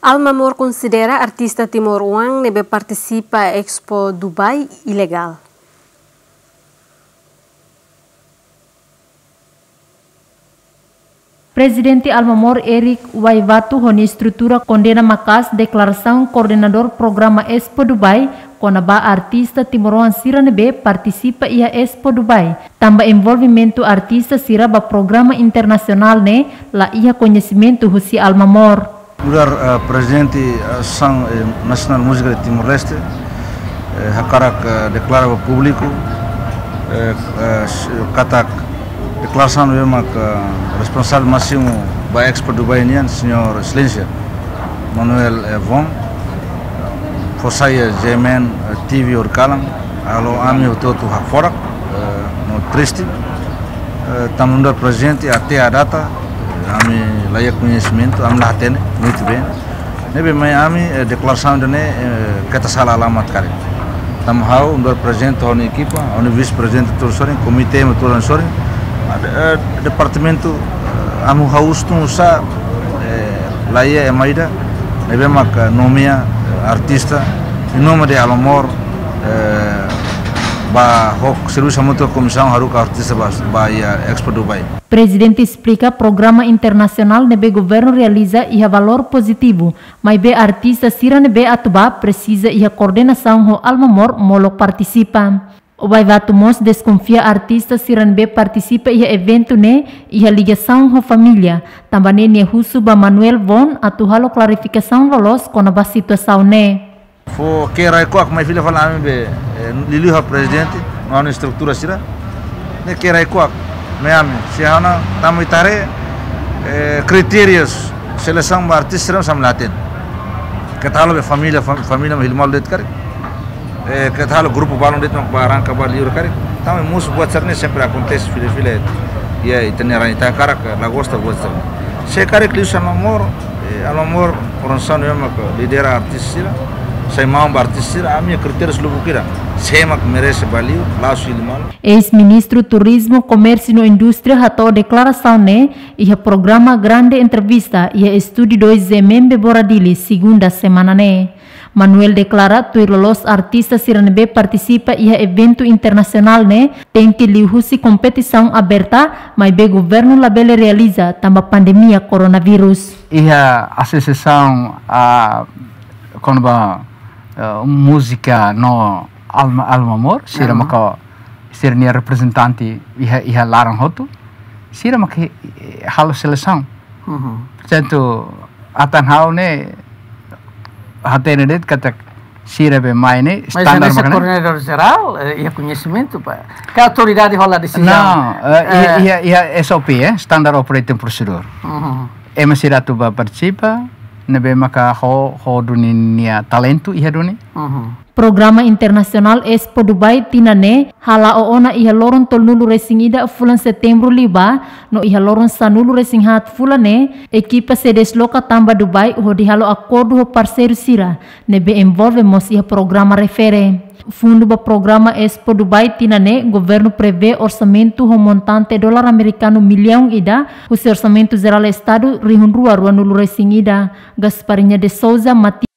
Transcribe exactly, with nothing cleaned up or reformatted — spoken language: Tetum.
Alma Mor konsidera artista timoroan ne'ebé partisipa Expo Dubai ilegál. Prezidente Alma Mor, Eric Waivatu, ho nia estrutura kondena maka'as deklarasaun koordenadór programa Expo Dubai kona-ba artista timoroan sira ne'ebé partisipa iha Expo Dubai, tanba envolvimentu artista sira ba programa internasionál ne'e la iha koñesimentu husi Alma Mor. Nu'udar, eh, Prezidente Asosiasaun, eh, Nasionál Múzika de Timor-Leste, eh, hakarak, eh, deklara ba públiku, eh, eh, s-, katak deklarasaun ne'ebé mak, eh, responsavel másimu ba Expo Dubai nian, Señór Exelénsia Manuel, eh, Von, fó sai iha G M N, eh, T V horikalan, halo ami hotu-hotu hakfodak, eh, no triste. Eh, tanba nu'udar Prezidente até à data, eh, ami la iha koñesimentu, ami la hatene, muito bem. Ne'ebé mai ami, eh, deklarasaun ida-ne'e, eh, keta sala alamat karik. Tanba ha'u, nu'udar Prezidente, ha'u-nia ekipa, ha'u-nia Vise-Prezidente hotu sorin, komité hotu sorin, ah, de-, eh, departamentu, eh, ami ha'u husu tun sá, eh, la iha ema ida ne'ebé maka nomeia, eh, artista, em nome de Alma Mor, eh, ba hok servisu hamutuk ho komisaun haruka artista ba, ba iha Expo Dubai. Prezidente esplika programa internasionál ne'ebé governu realiza iha valór pozitivu, maibé artista sira ne'ebé atu bá presiza iha koordenasaun ho Alma Mor molok partisipa. Waivatu mós deskonfia artista sira ne'ebé partisipa iha eventu ne'e iha ligasaun ho família, tanba ne'e nia husu ba Manuel Von atu halo klarifikasaun loloos kona-ba situasaun ne'e. Fó ke'e rai-kuak mai fila fali ami be, eh, liuliu ha'u Prezidente, no ha'u-nia estrutura sira. Ne'e ke'e rai-kuak mai ami, se ha'u-nia, tanba ita haree, eh, kritériu selesaun ba artista sira ami la hatene. Keta halo be família, fam-, família mak hili malu de'it karik. Eh, keta halo grupu balun de'it mak bá arranka bá liur karik. Tanba mosu buat sira-ne'e sempre akontese fila-fila. Ya, ita-nia rai, ita hakarak, la gosta buat sira-ne'e. Se karik liuhusi Alma Mor, eh, Alma Mor, organizasaun ne'ebé mak lidera artista sira, sai maun ba artista sira, ami-nia kritériu lubuk hira. Se mak merese bá liur, la'ós hili malu. Eis-Ministru Turizmu, Komérsiu no Indústria hato'o deklarasaun ne'e iha programa Grande Entrevista iha estúdiu dois G M M Bebora Dili, segunda semana ne'e. Manuel deklara tuir loloos artista sira ne'ebé partisipa iha eventu internasionál ne'e tenke liuhusi kompetisaun aberta, maibé governu labele realiza tanba pandemia koronavírus. Iha asosiasaun, ah, kona-ba, eh, múzika no Alma, Alma Mor, sira maka sira-nia reprezentante iha, iha laran hotu, sira maka, eh, halo selesaun. Portantu, atan ha'u ne'e hatene de'it katak sira be mai ne'e. Mas standar ese maka ne'e koordenadór jerál, eh, iha koñesimentu, pa. Ka autoridade hola desizaun? Não, eh, iha, iha, iha S O P, eh, Standard Operating Procedure. Ema sira atu bá partisipa, ne'ebé maka ho, ho duni nia talentu iha duni. Programa Internasionál Expo Dubai tinan ne'e hala'o ona iha loron tolunulu-resin-ida fulan Setembru liubá, no iha loron sanulu-resin-haat fulan ne'e, ekipa sei desloka tan ba Dubai hodi halo akordu ho parseiru sira ne'ebé envolve mós iha programa refere. Fundu ba programa Expo Dubai tinan ne'e, governu prevee orsamentu ho montante dolar amerikanu millaun ida, husi Orsamentu Jerál Estadu rihun rua ruanulu-resin-ida. Gasparinha de Souza, Mati-